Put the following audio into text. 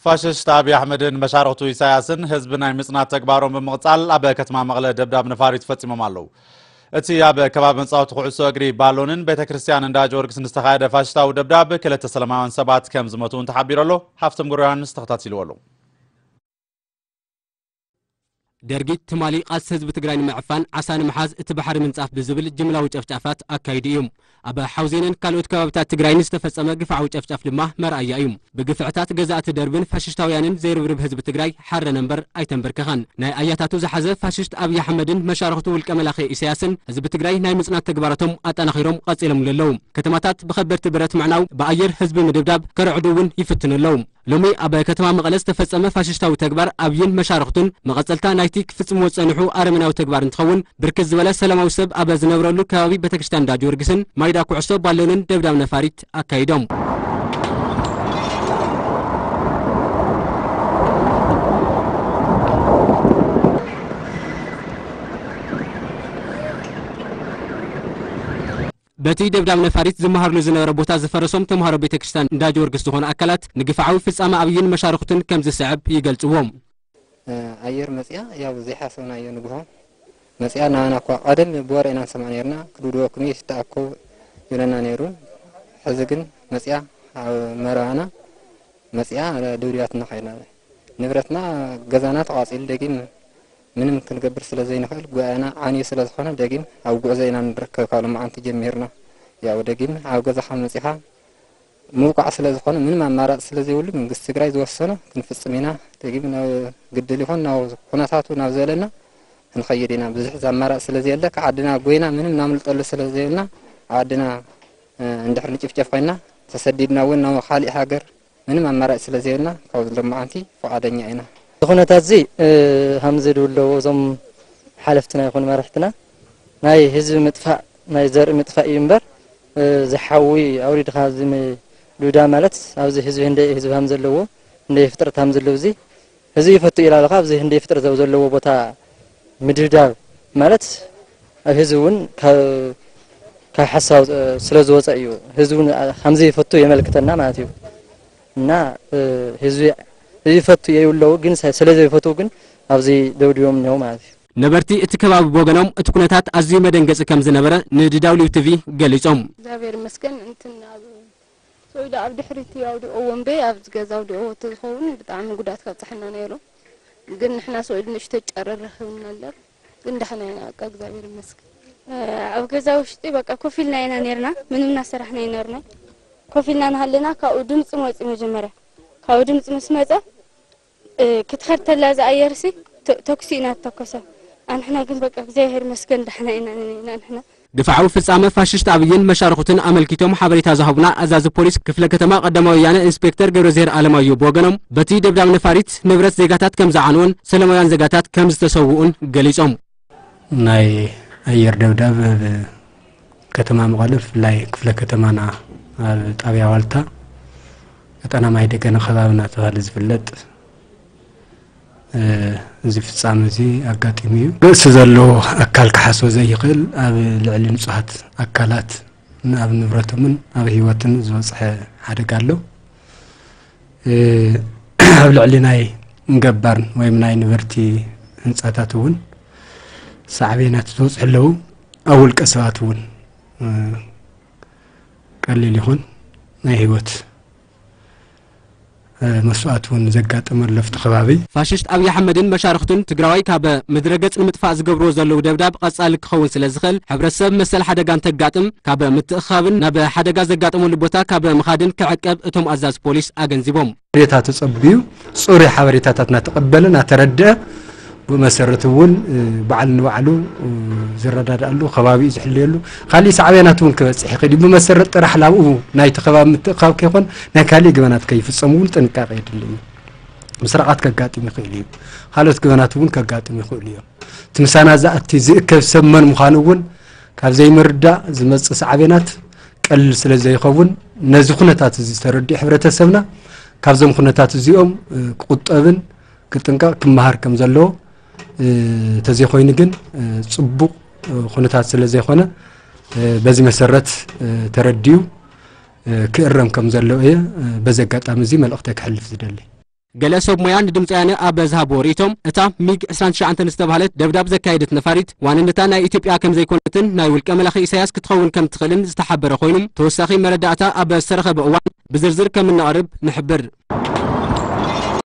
ፋሽስት ኣብይ ኣሕመድን መሻርኽቱ ኢሳያስን ህዝቢ ናይ ምጽናት ተግባሮም ብምቕጻል ኣብ ከተማ መቐለ ደብዳብ ነፋሪት ፈጺሞም ኣለዉ። እቲ ኣብ ከባቢ መጻወቲ ኩዕሶ እግሪ ባሎንን ቤተ ክርስቲያን እንዳ ጊዮርጊስን ዝተኻየደ ፋሽስታዊ ደብዳብ ክልተ ሰላማውያን ሰባት ከም ዝሞቱ እውን ተሓቢሩ ኣሎ። ሃፍቶም ገብረ ዮሃንስ ተኸታቲልዎ ኣሎ። ደርጊ ትማሊ ቃልሲ ህዝቢ ትግራይ ንምዕፋን ዓሳ ንምሓዝ እቲ ባሕሪ ምንጻፍ ብዝብል ጅምላዊ ጨፍጫፋት ኣካይዱ እዩ። ኣብ ሓውዜንን ካልኦት ከባቢታት ትግራይን ዝተፈጸመ ግፍዓዊ ጨፍጫፍ ድማ መርኣያ እዩ። ብግፍዕታት ገዛእቲ ደርብን ፋሽስታውያንን ዘይርብርብ ህዝቢ ትግራይ ሓረነ እምበር ኣይተንበርከኸን። ናይ ኣያታቱ ዝሓዘ ፋሽስት ኣብይ ኣሕመድን መሻርኽቱ ውልቀ መላኺ ኢሳያስን ህዝቢ ትግራይ ናይ ምጽናት ተግባራቶም ኣጠናኺሮም ቀጺሎምሉ ኣለዉ። ከተማታት ብኸበድቲ ብረት ምዕናው፣ ብኣየር ህዝቢ ምድብዳብ፣ ከርዕዱ እውን ይፍትኑ ኣለዉ። ሎሚ ኣብ ከተማ መቐለ ዝተፈጸመ ፋሽስታዊ ተግባር ኣብይን መሻርኽቱን መቐጸልታ ናይቲ ክፍጽምዎ ዝጸንሑ ኣረመናዊ ተግባር እንትኸውን፣ ብርክት ዝበለ ሰላማዊ ሰብ ኣብ ዝነብረሉ ከባቢ ቤተክርስትያን እንዳ ጊዮርጊስን ማይዳ ኩዕሶ ባሎንን ደብዳብ ነፋሪት ኣካይዶም። በቲ ደብዳብ ነፋሪት ዝመሃርሉ ዝነበረ ቦታ ዝፈረሶም ተምሃሮ ቤተክርስትያን እንዳ ጊዮርጊስ ዝኾኑ ኣካላት ንግፍዓዊ ፍጻመ ኣብይን መሻርኽቱን ከም ዝስዕብ ይገልጽዎ። ኣየር መጽያ፣ ያው ዘይሓሰብናዮ ንግሆ መጽያ። ናባና እኳ ቀደም ብወረ ኢና ንሰምዕ ነርና፣ ክድብድበኩም እዩ፣ ይተኣኮ ይብለና ነይሩ። ሕዚ ግን መጽያ ኣብ መረባና መጽያ ደብዲባትና ከይዳ። ንብረትና፣ ገዛና ተቓጺሉ፣ ደጊም ምንም ክንገብር ስለ ዘይንኽእል፣ ጉባኤና ዓንዩ ስለ ዝኾነ፣ ደጊም ኣብ ጉዕዞ ኢና ንርከብ። ካብ ሎማዓንቲ ጀሚርና፣ ያው ደጊም ኣብ ገዛኻ መጺኻ ምውቃዕ ስለ ዝኾነ፣ ምንም ኣማራጺ ስለ ዘይብሉ፣ መንግስቲ ትግራይ ዝወሰኖ ክንፍጽም ኢና። ደጊም ናብ ግድል ይኹን ናብ ኩነታቱ ናብ ዝበለና ክንኸይድ ኢና። ብዙሕ ኣማራጺ ስለ ዘየለ፣ ካብ ዓድና ጎይና ምንም ናምልጠሉ ስለ ዘየብልና፣ ኣብ ዓድና፣ እ፣ እንድሕር ንጭፍጨፍ ኮይና፣ ተሰዲድና እውን ናብ ካሊእ ሃገር ምንም ኣማራጺ ስለ ዘየብልና፣ ካብ ሎማዓንቲ ፍቓደኛ ኢና። እዚ ኩነታት እዚ፣ እ፣ ከምዚ ድብለዎ እዞም ሓለፍትና ይኹኑ መራሕትና፣ ናይ ህዝቢ ምጥፋእ፣ ናይ ዘርኢ ምጥፋእ እዩ እምበር፣ እ፣ ዝሓዊ ኣውሪድኻ እዚ ም-፣ ዱዳ ማለት ኣብዚ ህዝቢ ህንደይ ህዝቢ ሃም ዘለዎ፣ ህንደይ ፍጥረት ሃም ዘለዎ እዚ፣ ህዝቢ ይፈቱ ኢላ ኣለኻ፣ ኣብዚ ህንደይ ፍጥረት ኣብ ዘለዎ ቦታ ምድብዳብ ማለት ኣብ ህዝቢ እውን ካብ፣ ካብ ሓሳብ ስለ ዝወፀ እዩ። ህዝቢ እውን ከምዚ ይፈቱ የመልክተና ማለት እዩ። እና፣ እ፣ ህዝቢ ይፈቱ የብለዉ፣ ግን ሰ-፣ ስለ ዘይፈትዉ ግን ኣብዚ ደብድቦም እኒሀው ማለት እዩ። ነበርቲ እቲ ከባቢ ብወገኖም እቲ ኩነታት ኣዝዩ መደንገፂ ከም ዝነበረ ንዲዳውሊው ቲቪ ገሊፆም። እግዚኣብሔር ይመስገን፣ እንትን ኣብ ሰው ኢሉ ኣብ ድሕሪት ኣውዲቕዎ እምበይ ኣብዚ ገዛ ኣውዲቕዎ ተዝኸውን ብጣዕሚ ጉድኣት ካብፀሐና ነይሩ። ግን ንሕና ሰው ኢሉ ንእሽቶ ጨረር ረኺብና እምበር፣ ግን ደሕና ኢና፣ በቃ እግዚኣብሔር ይመስገን። ኣብ ገዛ ውሽጢ በቃ ኮፍ ኢልና ኢና ነርና፣ ምንም እናሰራሕና ኣይነርና። ኮፍ ኢልና እናሃለና ካብኡ ድምፂ መፂ መጀመርያ። ካብኡ ድምፂ ምስ መፀ፣ እ፣ ክትኸድ ተላ እዛ ኣየርሲ ተ-፣ ተኩሲ ኢና ተኮሰ። ኣንሕና ግን በቃ እግዚኣብሔር ይመስገን ደሕና ኢና ነርና ንሕና። ግፍዓዊ ፍጻመ ፋሽስት ኣብይን መሻርኹትን ኣመልኪቶም ሓበሬታ ዝሃቡና ኣዛዚ ፖሊስ ክፍለ ከተማ ቀዳማዊ ወያነ ኢንስፔክተር ገብረዝሄር ኣለማዮ ብወገኖም፣ በቲ ደብዳብ ነፋሪት ንብረት ዜጋታት ከም ዝዓንወን ሰላማውያን ዜጋታት ከም ዝተሰውኡን ገሊጾም። ናይ ኣየር ደብዳብ ኣብ ከተማ መቐለ፣ ብፍላይ ክፍለ ከተማና ኣብ ጣብያ ዋልታ፣ ቀጠና ማይ ደገነ ከባቢ እናተባህለ ዝፍለጥ፣ እ፣ እዚ ፍጻመ እዚ ኣጋጢሙ እዩ። ርእሲ ዘለዎ ኣካል ክሓስቦ ዘይኽእል፣ ኣብ ልዕሊ ንጹሃት ኣካላት፣ ኣብ ንብረቶምን ኣብ ህይወትን ዝበጽሐ ሓደጋ ኣሎ። እ፣ ኣብ ልዕሊ ናይ ገባር ወይም ናይ ነበርቲ ህንጻታት እውን ሳዕቤናት ዝበጽሑ ኣለዉ። ኣብ ውልቀ ሰባት እውን፣ እ፣ ቀሊል ይኹን ናይ ህይወት፣ እ፣ መስዋእቲ እውን ዘጋጠመ ኣሎ ኣብቲ ከባቢ። ፋሽስት ኣብይ ኣሕመድን መሻርኽቱን ትግራዋይ ካብ ምድረ ገጽ ንምጥፋእ ዝገብርዎ ዘለዉ ደብዳብ ቀጻሊ ክኸውን ስለ ዝኽእል፣ ሕብረተሰብ መሰል ሓደጋ እንተጋጥም ካብ ምትእኽኻብን ናብ ሓደጋ ዘጋጠመሉ ቦታ ካብ ምኻድን ክዕቀብ እቶም ኣዛዚ ፖሊስ ኣገንዚቦም። ሓበሬታ ተጸብዩ፣ ጽሩይ ሓበሬታታት እናተቐበለ እናተረድአ፣ ብኡ መሰረት እውን፣ እ፣ ባዕሉ ንባዕሉ፣ እ፣ ዝረዳድኣሉ፣ ከባቢኡ ዝሕልየሉ፣ ካሊእ ሳዕቤናት እውን ክበጽሕ ይኽእል እዩ። ብመሰረት ጥራሕ ላብኡ ናይቲ ከባቢ ምትእኽኻብ ከይኮን፣ ናይ ካሊእ ገበናት ከይፍጸሙ እውን ጥንቃቄ የድሊ እዩ። ምስራቓት ከጋጥም ይኽእል እዩ። ካልኦት ገበናት እውን ከጋጥም ይኽእሉ እዮም። እቲ ምሳና ዝኣቲ ዝእከብ ሰብ መን ምዃኑ እውን ካብ ዘይምርዳእ ዝመጽእ ሳዕቤናት ቀሊል ስለ ዘይኸውን፣ ነዚ ኩነታት እዚ ተረዲኡ ሕብረተሰብና ካብዞም ኩነታት እዚኦም፣ እ፣ ክቁጠብን ክጥንቀቕ ክመሃር ከም ዘለዎ፣ እ፣ ተዘይኮይኑ ግን፣ እ፣ ጽቡቕ፣ እ፣ ኩነታት ስለ ዘይኮነ፣ እ፣ በዚ መሰረት፣ እ፣ ተረዲኡ፣ እ፣ ክእረም ከም ዘለዎ እየ፣ እ፣ በዚ ኣጋጣሚ እዚ መልእኽተይ ክሕልፍ ዝደሊ። ገለ ሰብ ሞያ ንድምፂ ወያነ ኣብ ዝሃብዎ ርእይቶም፣ እታ ሚግ ዕስራን ትሽዓተን ዝተባህለት ደብዳብ ዘካየደት ነፋሪት ዋንነታ ናይ ኢትዮጵያ ከም ዘይኮነትን ናይ ውልቀ መላኺ ኢሳያስ ክትኸውን ከም ትኽእልን ዝተሓበረ ኮይኑ፣ ተወሳኺ መረዳእታ ኣብ ዝተረኸበ እዋን ብዝርዝር ከም እነቕርብ ንሕብር።